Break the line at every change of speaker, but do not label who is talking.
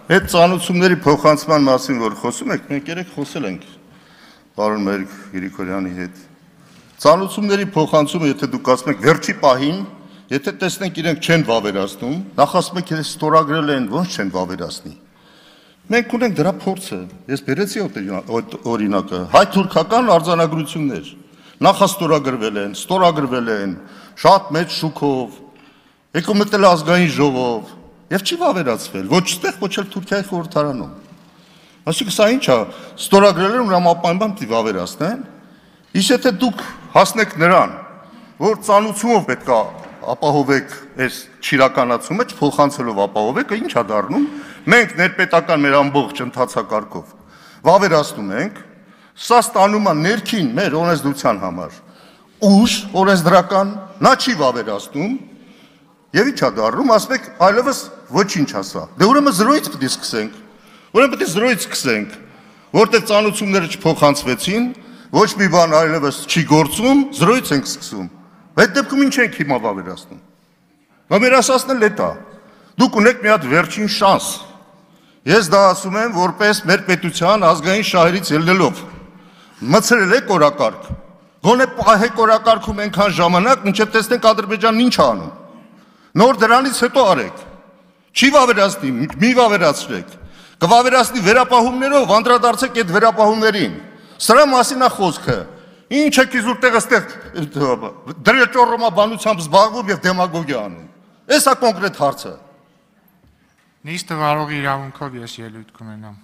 Այդ ծանոթությունների փոխանցման մասին որ խոսում եք, մենք երեք խոսել ենք պարոն Մերիկ Գրիգորյանի հետ։ Ծանոթությունների փոխանցումը, եթե դուք ասում եք վերջի պահին, եթե տեսնենք իրենք չեն վավերացնում, նախ ասում եք իրենց ստորագրել են, ոնց չեն վավերացնի։ Մենք ունենք դրա փորձը։ Ես բերեցի օրինակը, հայ-թուրքական արձանագրություններ նախաստորագրվել են, շատ մեծ շուկով, եկում մտել ազգային ժողով եւ չի վավերացվել, ոչ ստեղ, ոչ էլ Թուրքիայի խորհրդարանում։ Այսինքն սա ինչ է, ստորագրել են հրամապայման պիտի վավերացնեն։ Իսկ եթե դուք հասնեք նրան, որ ծանոթությունով պետք է ապահովեք այս չիրականացումը, չփոխանցելով ապահովեք, ինչ է դառնում։ Մենք ներպետական մեր ամբողջ ընթացակարգով վավերացնում ենք, սա ստանում է ներքին մեր օրենսդրության համար ուժ օրենսդրական, նա չի վավերացնում, եւ ինչ է դառնում, ասում եք այլևս ոչինչ ասա։ Դե ուրեմն զրոյից պետք է սկսենք, որտեղ ծանոթությունները չփոխանցվեցին, ոչ մի բան այլևս չի գործում, զրոյից ենք սկսում։ Այդ դեպքում ինչ ենք հիմա վավերացնում։ Վավերացնել է դա։ Դուք ունեք մի հատ վերջին շանս։ Ես դա ասում եմ որպես մեր պետության ազգային շահերից ելնելով։ Մցրել եք օրակարգ։ Գոնե պահեք օրակարգում այնքան ժամանակ, մինչև տեսնենք Ադրբեջանն ինչ է անում։ Նոր դրանից հետո արեք։ Չի վավերացնի, մի վավերացրեք։ Կվավերացնի վերապահումներով, անդրադարձեք այդ վերապահումներին։ Սրա մասին է խոսքը։ Ինչ եք իզուր տեղը դրեճոռոմաբանությամբ զբաղվում եւ դեմագոգիա անում։ Էսա կոնկրետ հարցը։
Նիստը վարողի իրավունքով ես ելույթ կունենամ։